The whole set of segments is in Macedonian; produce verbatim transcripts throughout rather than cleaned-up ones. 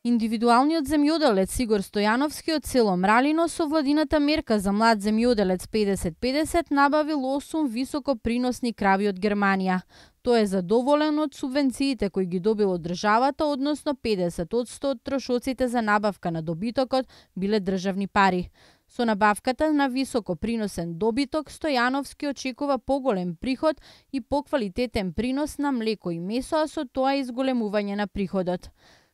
Индивидуалниот земјоделец Игор Стојановски од село Мралино со владината мерка за млад земјоделец педесет педесет набавил осум високоприносни крави од Германија. Тој е задоволен од субвенциите кои ги добил од државата, односно педесет одсто од трошоците за набавка на добитокот биле државни пари. Со набавката на високоприносен добиток, Стојановски очекува поголем приход и поквалитетен принос на млеко и месо, а со тоа изголемување на приходот.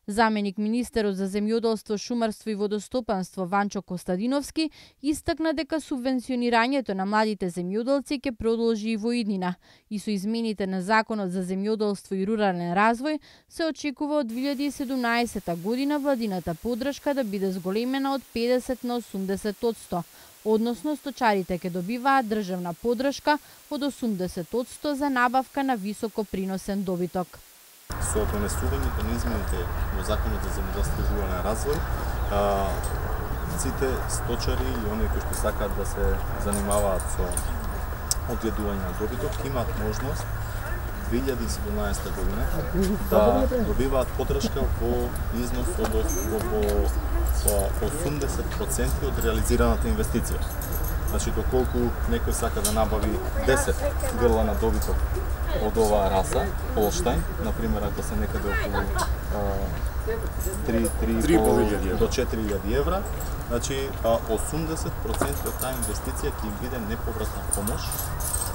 Заменик министерот за земјоделство, шумарство и водостопанство Ванчо Костадиновски истакна дека субвенционирањето на младите земјоделци ќе продолжи и во иднина и со измените на Законот за земјоделство и рурален развој се очекува од две илјади и седумнаесета година владината поддршка да биде зголемена од педесет на осумдесет одсто, односно сточарите ќе добиваат државна поддршка од осумдесет одсто за набавка на високоприносен добиток. Со донесувањето на измените во Законот за земјоделство и рурален развој, сите сточари и оние кои што сакаат да се занимаваат со одгледување на добиток имаат можност две илјади и седумнаесета година да добиваат поддршка во износ од осумдесет проценти од реализираната инвестиција. Значи, доколку некој сака да набави десет грла на добиток од оваа раса, Холштајн, например, ако се некаде околу три до четири илјади евра, значи осумдесет проценти од таа инвестиција ќе биде неповратна помош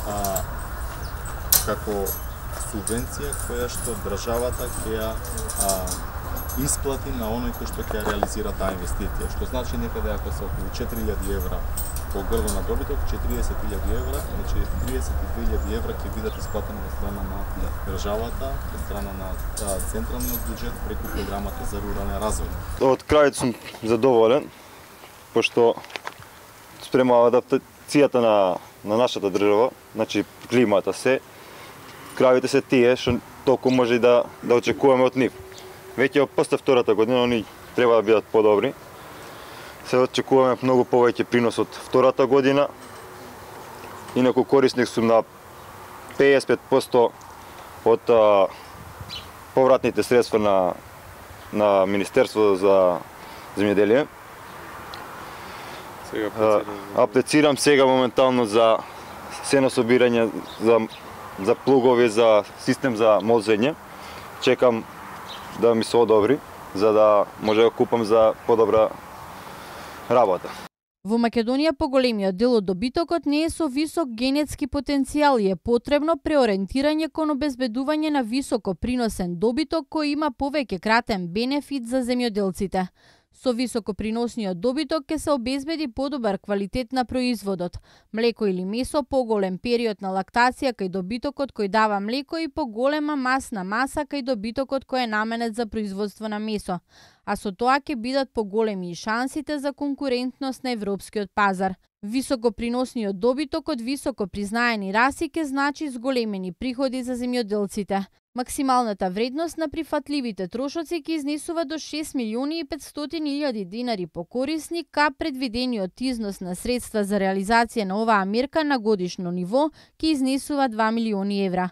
а, како субвенција која што државата ќе ја исплати на оној кој што ќе реализира таа инвестиција, што значи некаде ако се околу четири илјади евра по грло на добиток, четириесет илјади евра, значи триесет и две илјади евра ќе бидат исплатени од страна на државата, од страна на централниот буџет преку програмата за рурален развој. Од крајот сум задоволен, пошто спрема адаптацијата на, на нашата држава, значи климата се, кравите се тие што толку може да, да очекуваме од нив. Веќе после втората година они треба да бидат подобри. Се очекуваме многу повеќе принос од втората година. Инаку корисник сум на педесет и пет проценти од а, повратните средства на, на Министерството за земјоделие. Сега аплицирам. Аплицирам сега моментално за сенособирање, за, за плугови, за систем за молзење. Чекам да ми се одобри, за да може да купам за подобра работа. Во Македонија поголемиот дел од добитокот не е со висок генетски потенцијал и е потребно преориентирање кон обезбедување на високо приносен добиток кој има повеќе кратен бенефит за земјоделците. Со високоприносниот добиток ќе се обезбеди подобар квалитет на производот, млеко или месо, поголем период на лактација кај добитокот кој дава млеко и поголема масна маса кај добитокот кој е наменет за производство на месо, а со тоа ќе бидат поголеми и шансите за конкурентност на европскиот пазар. Високоприносниот добиток од високо признаени раси ќе значи зголемени приходи за земјоделците. Максималната вредност на прифатливите трошоци ќе изнесува до шест милиони и петстотини илјади динари по корисник, а предвидениот износ на средства за реализација на оваа мерка на годишно ниво ќе изнесува два милиони евра.